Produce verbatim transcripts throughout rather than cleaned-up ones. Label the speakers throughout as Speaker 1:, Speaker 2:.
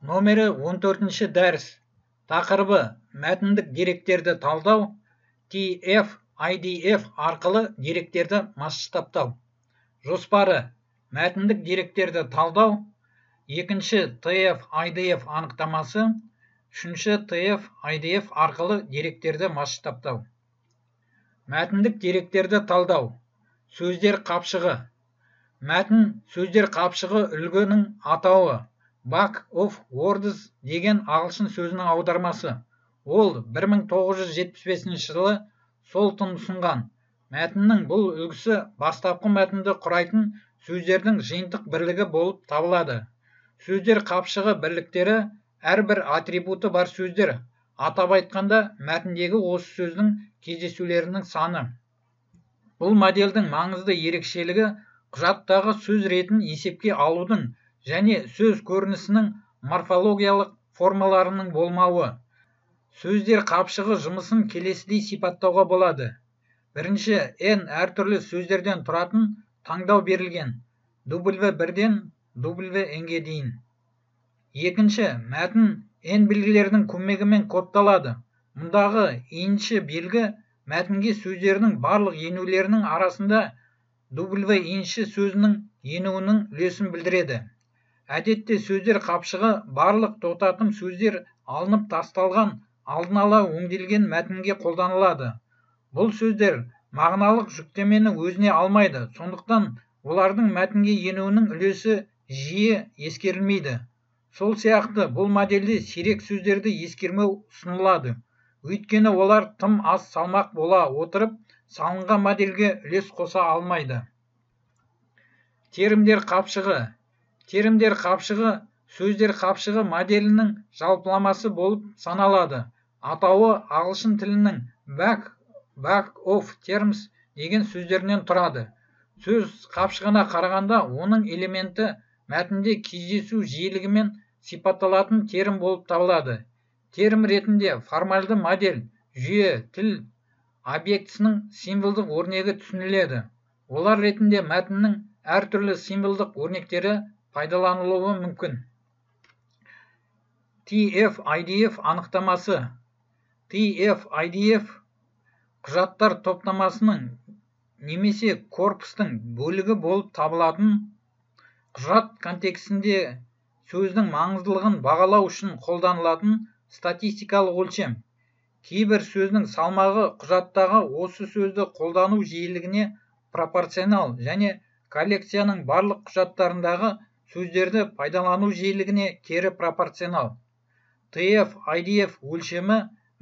Speaker 1: Номері он төртінші дәріс. Тақырыбы мәтіндік деректерді талдау, ти эф ай ди эф арқылы деректерді масштабтау. Жоспары мәтіндік деректерді талдау, екінші ти эф ай ди эф анықтамасы, үшінші ти эф ай ди эф арқылы деректерді масштабтау. Мәтіндік деректерді талдау. Сөздер қапшығы. Мәтін сөздер қапшығы үлгінің атауы. Book of Words деген ағылшын сөзінің аудармасы. Ол бір мың тоғыз жүз жетпіс бесінші жылы Солтон ұсынған. Мәтіннің бұл үлгісі бастапқы мәтінді құрайтын сөздердің жиынтық бірлігі болып табылады. Сөздер қапшығы бірліктері әрбір атрибуты бар сөздер. Атап айтқанда, мәтіндегі осы сөздің кездесулерінің саны. Бұл модельдің маңызды ерекшелігі құжаттағы сөз ретін есепке алудың және сөз көрінісінің морфологиялық формаларының болмауы. Сөздер қапшығы жұмысын келесідей сипаттауға болады. Бірінші, n әртүрлі сөздерден тұратын таңдау берілген. дабл ю бірден дабл ю н-ге дейін. Екінші, мәтін n белгілерінің көмегімен кодталады. Мұндағы енші белгі мәтінге сөздердің барлық енулерінің арасында дабл ю енші сөзінің енуінің үлесін білдіреді. Әдетте сөздер қапшығы барлық тоқтатым сөздер алынып тасталған алдын ала өңделген мәтінге қолданылады. Бұл сөздер мағыналық жүктемені өзіне алмайды, сондықтан олардың мәтінге енуінің үлесі жиі ескерілмейді. Сол сияқты бұл модельде сирек сөздерді ескермеу ұсынылады. Өйткені олар тым аз салмақ бола отырып, салынған модельге үлес қоса алмайды. Терімдер қапшығы. Терімдер қапшығы сөздер қапшығы моделінің жалпыламасы болып саналады. Атауы ағылшын тілінің back, back of terms деген сөздерінен тұрады. Сөз қапшығына қарағанда оның элементі мәтінде кездесу жиілігімен сипатталатын терім болып табылады. Терім ретінде формальды модель, жүйе, тіл объектісінің символдық өрнегі түсініледі. Олар ретінде мәтіннің әртүрлі символдық өрнектері пайдаланылуы мүмкін. ти эф ай ди эф анықтамасы. ти эф ай ди эф құжаттар топтамасының немесе корпустың бөлігі болып табылатын құжат контекстінде сөздің маңыздылығын бағалау үшін қолданылатын статистикалық өлшем. Кейбір сөздің салмағы құжаттағы осы сөзді қолдану жиілігіне пропорционал және коллекцияның барлық құжаттарындағы сөздерді пайдалану жиілігіне кері пропорционал. ти эф ай ди эф өлшемі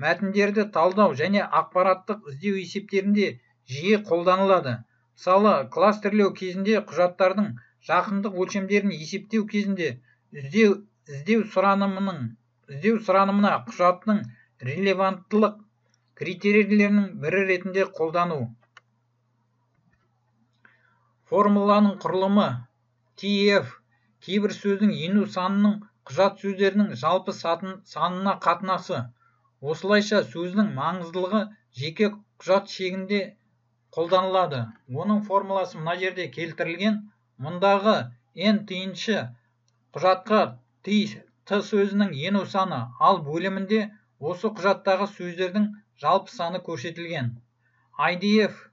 Speaker 1: мәтіндерді талдау және ақпараттық іздеу есептерінде жиі қолданылады. Мысалы, кластерлеу кезінде құжаттардың жақындық өлшемдерін есептеу кезінде іздеу, іздеу сұранымының, іздеу сұранымына құжаттың релеванттылық критерийлерінің бірі ретінде қолдану. Формуланың құрылымы. ти эф кейбір сөздің ену санының құжат сөздерінің жалпы санына қатынасы. Осылайша сөздің маңыздылығы жеке құжат шегінде қолданылады. Оның формуласы мына жерде келтірілген. Мұндағы n тиыншы құжатқа т сөзінің ену саны, ал бөлімінде осы құжаттағы сөздердің жалпы саны көрсетілген. ай ди эф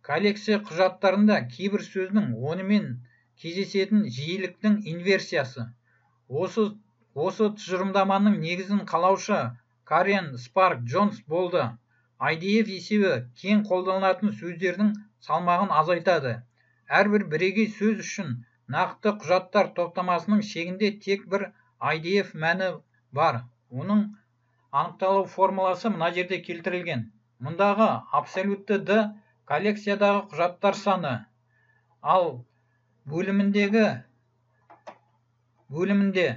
Speaker 1: коллекция құжаттарында кейбір сөздің онымен кездесетін жиіліктің инверсиясы. Осы, осы тұжырымдаманың негізін қалаушы Карен Спарк Джонс болды. ай ди эф есебі кең қолданылатын сөздердің салмағын азайтады. Әрбір бірегей сөз үшін нақты құжаттар топтамасының шегінде тек бір ай ди эф мәні бар. Оның анықталу формуласы мына жерде келтірілген. Мұндағы абсолютті d коллекциядағы құжаттар саны, ал бөліміндегі бөлімінде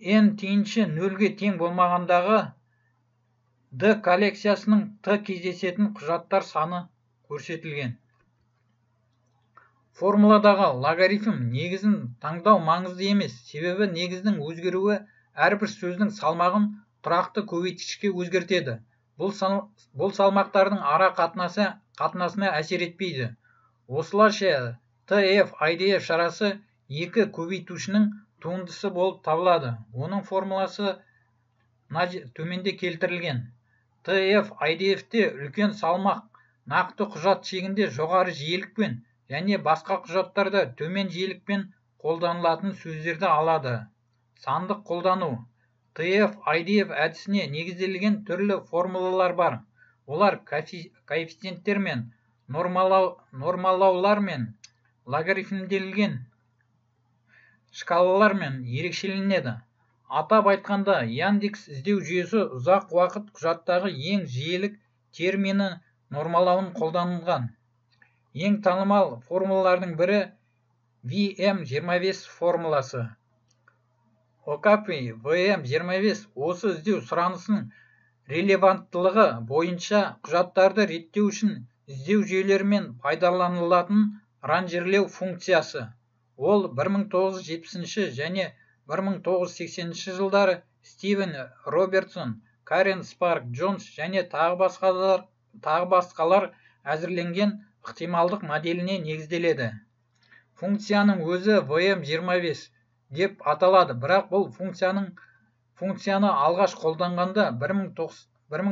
Speaker 1: n тиыншы нөлге тең болмағандағы d коллекциясының t кездесетін құжаттар саны көрсетілген. Формуладағы логарифм негізін таңдау маңызды емес, себебі негіздің өзгеруі әрбір сөздің салмағын тұрақты көбейткішке өзгертеді. Бұл, сал, бұл салмақтардың ара қатынасы қатынасына әсер етпейді. Осылайша ти эф ай ди эф шарасы екі көбейтушінің туындысы болып табылады. Оның формуласы төменде келтірілген. Т Ф I D F-те үлкен салмақ, нақты құжат шегінде жоғары жиілікпен және басқа құжаттарда төмен жиілікпен қолданылатын сөздерді алады. Сандық қолдану. Т Ф I D F әдісіне негізделген түрлі формулалар бар. Олар коэффициенттер мен нормалаулар мен логарифмделген шкалалармен ерекшеленеді. Атап айтқанда, Яндекс іздеу жүйесі ұзақ уақыт құжаттағы ең жиілік термині нормалауын қолданылған. Ең танымал формулалардың бірі V M жиырма бес формуласы. Окапи V M жиырма бес осы іздеу сұранысының релеванттылығы бойынша құжаттарды реттеу үшін іздеу жүйелерімен пайдаланылатын ранжирлеу функциясы. Ол бір мың тоғыз жүз жетпісінші және бір мың тоғыз жүз сексенінші жылдары Стивен Робертсон, Карен Спарк Джонс және тағы басқалар, тағы басқалар әзірленген ықтималдық моделіне негізделеді. Функцияның өзі V M жиырма бес деп аталады, бірақ бұл функцияның функцияны алғаш қолданғанда бір мың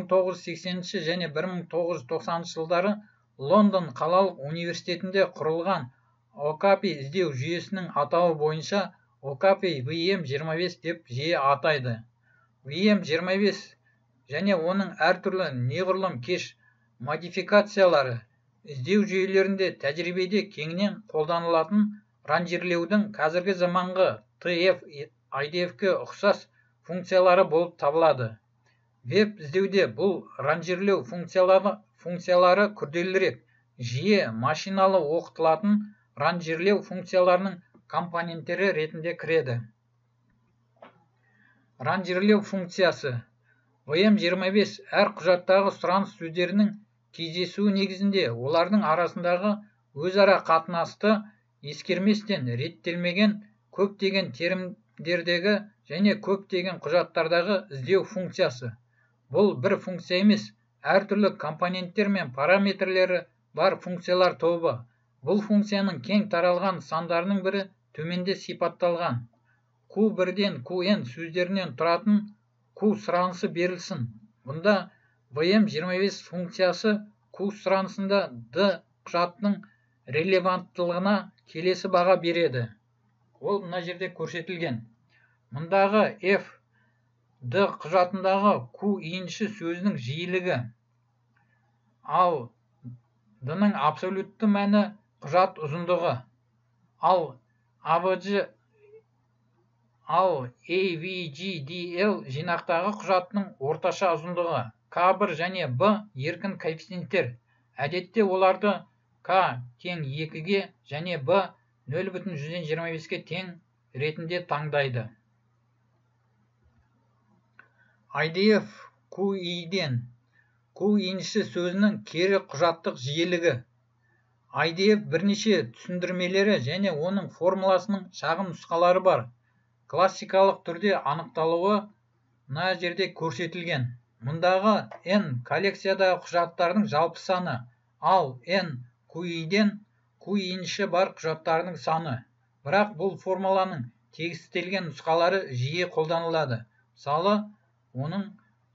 Speaker 1: тоғыз жүз сексенінші және бір мың тоғыз жүз тоқсаныншы жылдары Лондон қалалық университетінде құрылған Окапи іздеу жүйесінің атауы бойынша Окапи V M жиырма бес деп жиі атайды. V M жиырма бес және оның әртүрлі неғұрлым кеш модификациялары іздеу жүйелерінде тәжірибеде кеңінен қолданылатын ранжирлеудің қазіргі заманғы Т Ф I D F-ке ұқсас функциялары болып табылады. Веб іздеуде бұл ранжирлеу функциялары, функциялары күрделірек, жиі машиналы оқытылатын ранжирлеу функцияларының компоненттері ретінде кіреді. Ранжирлеу функциясы. V M жиырма бес әр құжаттағы сұраныс сөздерінің кездесуі негізінде олардың арасындағы өзара қатынасты ескерместен реттелмеген көптеген терімдердегі және көптеген құжаттардағы іздеу функциясы. Бұл бір функция емес, әртүрлі компоненттер мен параметрлері бар функциялар тобы. Бұл функцияның кең таралған сандарының бірі төменде сипатталған. Q бірден Q N сөздерінен тұратын Q сұранысы берілсін. Бұнда V M жиырма бес функциясы Q сұранысында D құжатының релеванттылығына келесі баға береді. Ол мына жерде көрсетілген. Мұндағы F D құжатындағы Q енші сөзінің жиілігі, ал D-ның абсолютті мәні құжат ұзындығы, ал A V G ал A V G D L жинақтағы құжатының орташа ұзындығы, К бір және B еркін коэффициенттер. Әдетте оларды К тең екіге және B нөл бүтін жүзден жиырма беске тең ретінде таңдайды. I D F Q I-ден Q енші сөзінің кері құжаттық жиілігі. I D F бірнеше түсіндірмелері және оның формуласының шағын нұсқалары бар. Классикалық түрде анықталуы мына жерде көрсетілген. Мұндағы N коллекциядағы құжаттардың жалпы саны, ал N Q I-ден Q енші бар құжаттардың саны. Бірақ бұл формуланың тегістелген нұсқалары жиі қолданылады. Мысалы, оның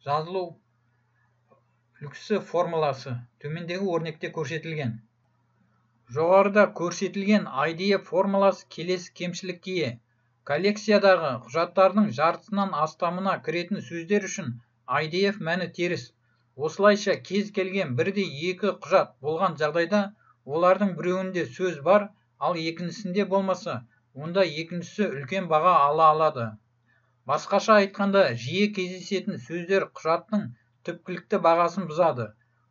Speaker 1: жазылу үлгісі формуласы төмендегі өрнекте көрсетілген. Жоғарыда көрсетілген I D F формуласы келесі кемшілікке ие. Коллекциядағы құжаттардың жартысынан астамына кіретін сөздер үшін I D F мәні теріс. Осылайша кез келген бірдей екі құжат болған жағдайда олардың біреуінде сөз бар, ал екіншісінде болмаса, онда екіншісі үлкен баға ала алады. Басқаша айтқанда, жиі кездесетін сөздер құжаттың түпкілікті бағасын бұзады.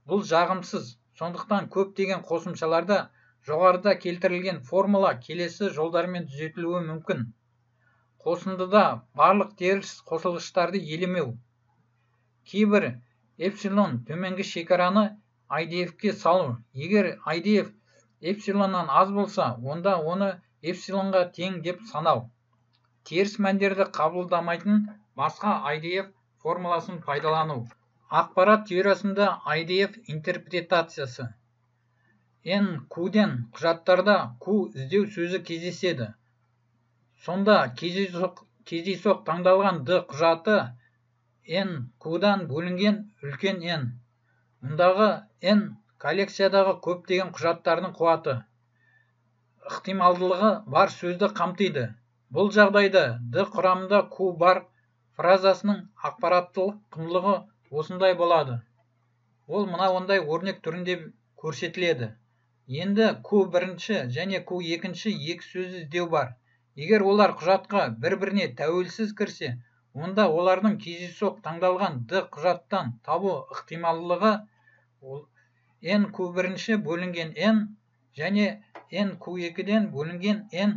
Speaker 1: Бұл жағымсыз, сондықтан көптеген қосымшаларда жоғарыда келтірілген формула келесі жолдармен түзетілуі мүмкін. Қосындыда барлық теріс қосылғыштарды елемеу. Кейбір эпсилон төменгі шекараны I D F-ке салу. Егер I D F эпсилоннан аз болса, онда оны эпсилонға тең деп санау. Теріс мәндерді қабылдамайтын басқа I D F формуласын пайдалану. Ақпарат теориясында I D F интерпретациясы. N Q-ден құжаттарда Q іздеу сөзі кездеседі. Сонда кездейсоқ, кездейсоқ таңдалған D құжаты N Q-дан бөлінген үлкен N. Мұндағы N коллекциядағы көптеген құжаттардың қуаты, ықтималдылығы бар сөзді қамтиды. Бұл жағдайда D құрамында Q бар фразасының ақпараттылық құндылығы осындай болады. Ол мына ондай өрнек түрінде көрсетіледі. Енді Q бірінші және Q екінші екі сөзді іздеу бар. Егер олар құжатқа бір-біріне тәуелсіз кірсе, онда олардың кездейсоқ таңдалған D құжаттан табу ықтималдылығы N Q бірінші бөлінген N және N Q екіден бөлінген N,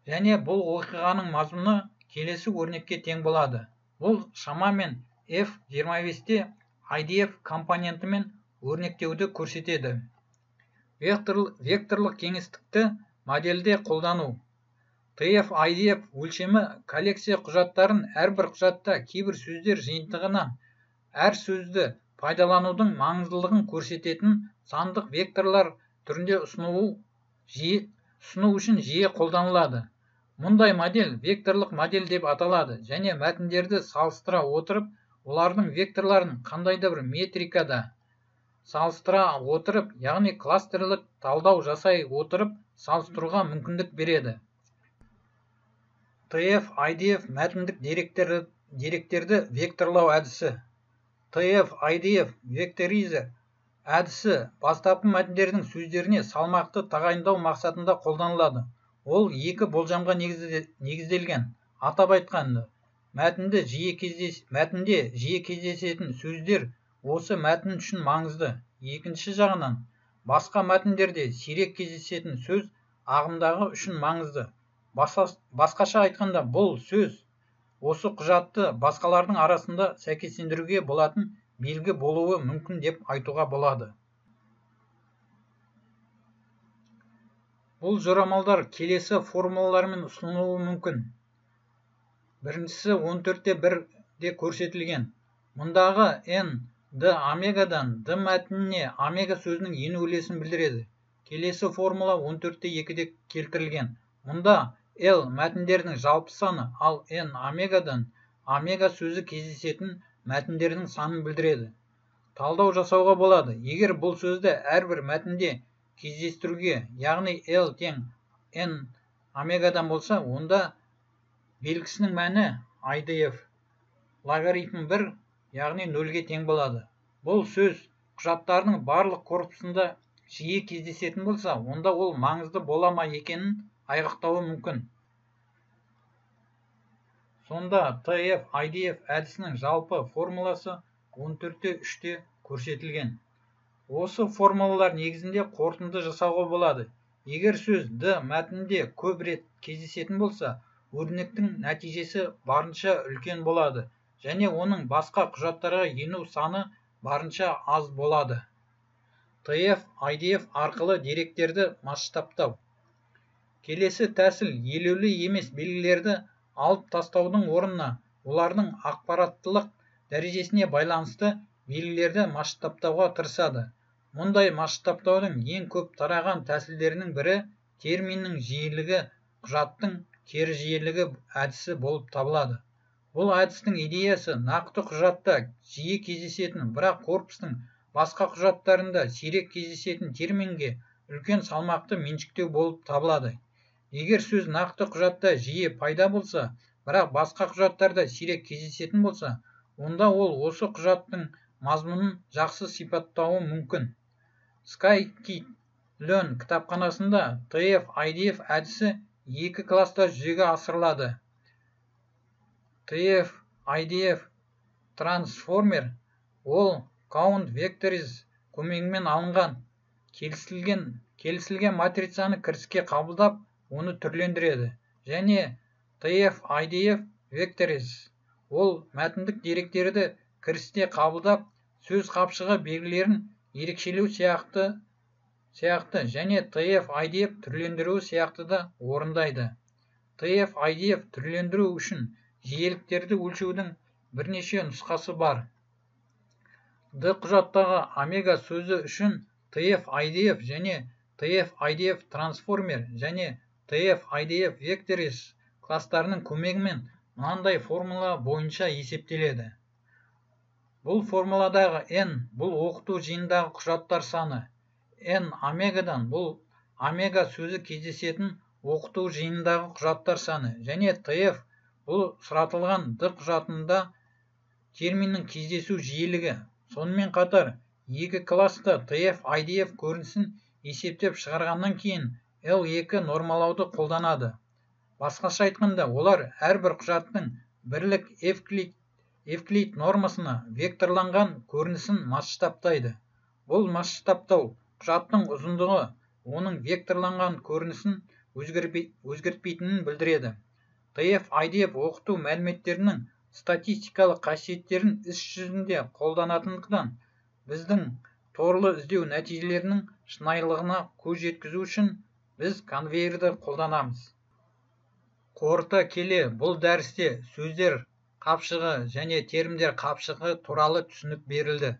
Speaker 1: және бұл оқиғаның мазмұны келесі өрнекке тең болады. Бұл шамамен F жиырма бесте I D F компонентімен өрнектеуді көрсетеді. Векторлық кеңістікті модельде қолдану. T F I D F өлшемі коллекция құжаттарын әрбір құжатта кейбір сөздер жиынтығынан әр сөзді пайдаланудың маңыздылығын көрсететін сандық векторлар түрінде ұсыну үшін жиі қолданылады. Мұндай модель векторлық модель деп аталады және мәтіндерді салыстыра отырып, олардың векторларын қандайда бір метрикада салыстыра отырып, яғни кластерлік талдау жасай отырып, салыстыруға мүмкіндік береді. T F I D F мәтіндік деректерді, деректерді векторлау әдісі. T F I D F векторизер әдісі бастапқы мәтіндердің сөздеріне салмақты тағайындау мақсатында қолданылады. Ол екі болжамға негізделген. Атап айтқанда, мәтінде жиі кездес, мәтінде жиі кездесетін сөздер осы мәтін үшін маңызды. Екінші жағынан, басқа мәтіндерде сирек кездесетін сөз ағымдағы үшін маңызды. Басқаша айтқанда, бұл сөз осы құжатты басқалардың арасында сәйкестендіруге болатын белгі болуы мүмкін деп айтуға болады. Бұл жорамалдар келесі формулалармен ұсынылуы мүмкін. Біріншісі он төртте бірде көрсетілген. Мұндағы N D омегадан D мәтініне омега сөзінің ену үлесін білдіреді. Келесі формула он төртте екіде келтірілген. Мұнда L мәтіндердің жалпы саны, ал N омегадан омега сөзі кездесетін мәтіндердің санын білдіреді. Талдау жасауға болады. Егер бұл сөзді әрбір мәтінде кездестіруге, яғни L тең N омегадан болса, онда белгісінің мәні I D F логарифм бір, яғни нөлге тең болады. Бұл сөз құжаттарының барлық корпусында жиі кездесетін болса, онда ол маңызды бола ма екенін айғақтауы мүмкін. Сонда T F I D F әдісінің жалпы формуласы он төртте үште көрсетілген. Осы формулалар негізінде қорытынды жасауға болады. Егер сөз D мәтінінде көп рет кездесетін болса, өрнектің нәтижесі барынша үлкен болады, және оның басқа құжаттарға ену саны барынша аз болады. T F I D F арқылы деректерді масштабтау. Келесі тәсіл елеулі емес белгілерді алып тастаудың орнына олардың ақпараттылық дәрежесіне байланысты белгілерді масштабтауға тырысады. Мұндай масштабтаудың ең көп тараған тәсілдерінің бірі терминнің жиілігі құжаттың кері жиілігі әдісі болып табылады. Бұл әдістің идеясы нақты құжатта жиі кездесетін, бірақ корпустың басқа құжаттарында сирек кездесетін терминге үлкен салмақты меншіктеу болып табылады. Егер сөз нақты құжатта жиі пайда болса, бірақ басқа құжаттарда сирек кездесетін болса, онда ол осы құжаттың мазмұнын жақсы сипаттауы мүмкін. Scikit-learn кітапханасында T F I D F әдісі екі класста жүзеге асырылады. T F I D F Transformer ол count vectors көмегімен алынған келісілген, келісілген матрицаны кіріске қабылдап, оны түрлендіреді. Және T F I D F vectors ол мәтіндік деректерді кірісте қабылдап, сөз қапшығы белгілерін ерекшелеу сияқты, сияқты және T F I D F түрлендіру сияқты да орындайды. T F I D F түрлендіру үшін жиіліктерді өлшеудің бірнеше нұсқасы бар. D құжаттағы омега сөзі үшін T F I D F және T F I D F Transformer және T ти эф ай ди эф vectors кластарының көмегімен мынандай формула бойынша есептеледі. Бұл формуладағы n бұл оқыту жиындағы құжаттар саны, n омегадан бұл омега сөзі кездесетін оқыту жиындағы құжаттар саны және ти эф бұл сұратылған д құжатында терминнің кездесу жиілігі. Сонымен қатар екі класты ти эф ай ди эф көрінісін есептеп шығарғаннан кейін эл екі нормалауды қолданады. Басқаша айтқанда, олар әрбір құжаттың бірлік Евклид, Евклид нормасына векторланған көрінісін масштабтайды. Бұл масштабтау құжаттың ұзындығы оның векторланған көрінісін өзгертпейтінін білдіреді. ти эф ай ди эф оқыту мәліметтерінің статистикалық қасиеттерін іс жүзінде қолданатындықтан, біздің торлы іздеу нәтижелерінің шынайылығына көз жеткізу үшін біз конвейерді қолданамыз. Қорыта келе, бұл дәрісте сөздер қапшығы және термдер қапшығы туралы түсінік берілді.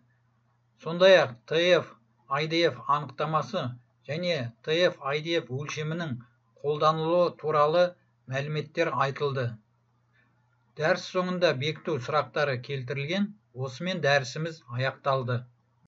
Speaker 1: Сондай-ақ ти эф ай ди эф анықтамасы және ти эф ай ди эф өлшемінің қолданылуы туралы мәліметтер айтылды. Дәріс соңында бекіту сұрақтары келтірілген. Осымен дәрісіміз аяқталды.